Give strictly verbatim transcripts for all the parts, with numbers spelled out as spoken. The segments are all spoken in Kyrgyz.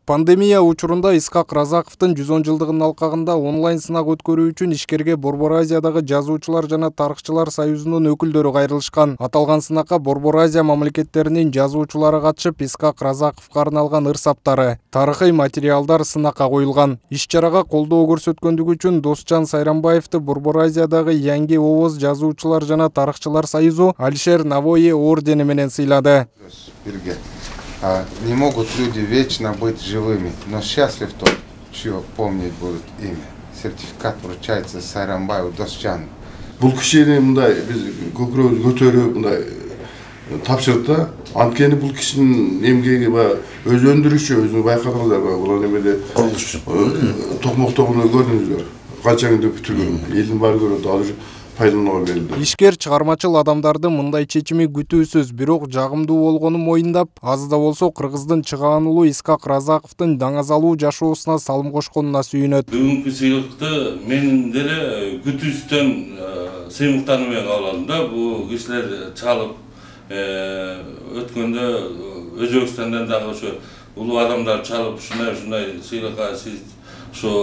Пандемия учурунда Исхак Разаковдун жүз он жылдыгынын алкагында онлайн сынак өткөрүү үчүн ишкерге Борбор Азиядагы жазуучулар жана тарыхчылар союзунун өкүлдөрү кайрылышкан. Аталган сынакка Борбор Азия мамлекеттеринин жазуучулары катышып, Исхак Разаковго арналган ыр-саптары, тарыхый материалдар сынакка коюлган. Иш-чарага колдоо көрсөткөндүгү үчүн Досжан Сайрамбаевди Борбор Азиядагы Yangi Ovoz жазуучулар жана тарыхчылар союзу Алишер Навои ордени менен сыйлады. Не могут люди вечно быть живыми, но счастлив тот, чье помнить будут имя. Сертификат вручается Сайрамбаеву Досжану. Бул кишини мындай биз көкүрөбүздү көтөрүп мындай тапшырды. Анткени бул кишинин эмгеги баягы өзү өндүрүшчү, өзү байкадыңыздар баягы бул немеде токмоктобуну көрдүңүздөр. Канча күндө бүтүргөн, элдин баары көрөт, ал пайдаланууга берилди. Ишкер чыгармачыл адамдарды мындай чечими күтүүсүз, бирок жагымдуу болгонун моюндап, аз да болсо кыргыздын чыгаан уулу Исхак Разаковдун даңазалуу жашоосуна салым кошконуна сүйүнөт. Бүгүнкү сыйлыкты мен деле күтүүстөн сыймыктануу менен кабыл алдым да. Бул кишилер чалып өткөндө Өзбекстандан дагы ошо улуу адамдар чалып ушундай ушундай сыйлыкка сиз ошо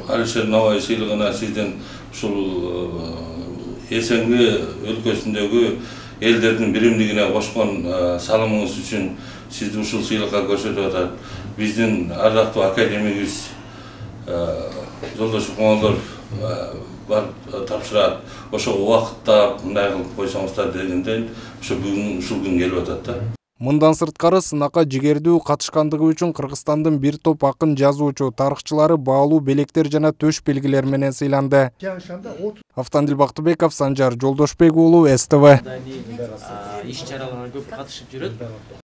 Алишер Навои сыйлыгына сизден ушул эсенги өлкөсүндөгү элдердин биримдигине кошкон салымыңыз үчүн сизди ушул сыйлыкка көрсөтүп атат. Биздин ардактуу академигибиз Жолдошов Коңолдор барып тапшырат. Ошо убакытта мындай кылып койсоңуздар дегенден ошо бүгүн ушул күн келип атат да. Мындан сырткары сынакка жигердүү катышкандыгы үчүн Кыргызстандын бир топ акын жазуучу, тарыхчылары баалуу белектер жана төш белгилер менен сыйланды. Автандил Бактыбеков, Санжар Жолдошбек уулу, С Т В. Иш-чараларга көп катышып жүрөт.